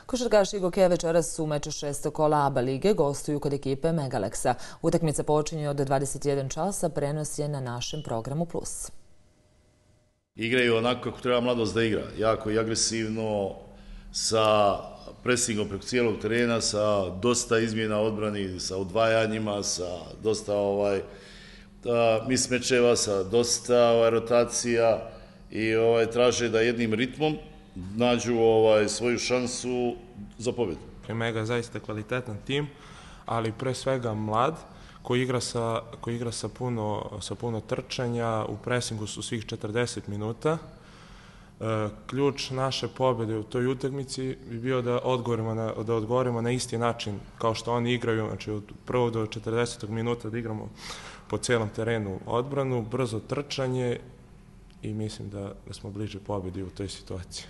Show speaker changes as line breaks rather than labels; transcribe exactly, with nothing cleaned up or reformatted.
Košarkaši Gokeja večeras u meču šestog kola A B A lige gostuju kod ekipe Megaleksa. Utakmica počinje od dvadeset jedan časa, prenos je na našem programu Plus.
Igraju onako kako treba mladost da igra, jako i agresivno, sa presingom preko cijelog terena, sa dosta izmjena odbrani, sa odvajanjima, sa dosta ovaj, mismečeva, sa dosta ovaj, rotacija i ovaj, traže da jednim ritmom nađu ovaj, svoju šansu za pobjedu.
Mega je zaista kvalitetan tim, ali pre svega mlad, koji igra sa, koji igra sa, puno, sa puno trčanja, u presingu su svih četrdeset minuta. E, ključ naše pobjede u toj utakmici bi bio da odgovorimo na, da odgovorimo na isti način kao što oni igraju, znači od prvog do četrdesetog minuta da igramo po cijelom terenu odbranu, brzo trčanje i mislim da, da smo bliže pobjedi u toj situaciji.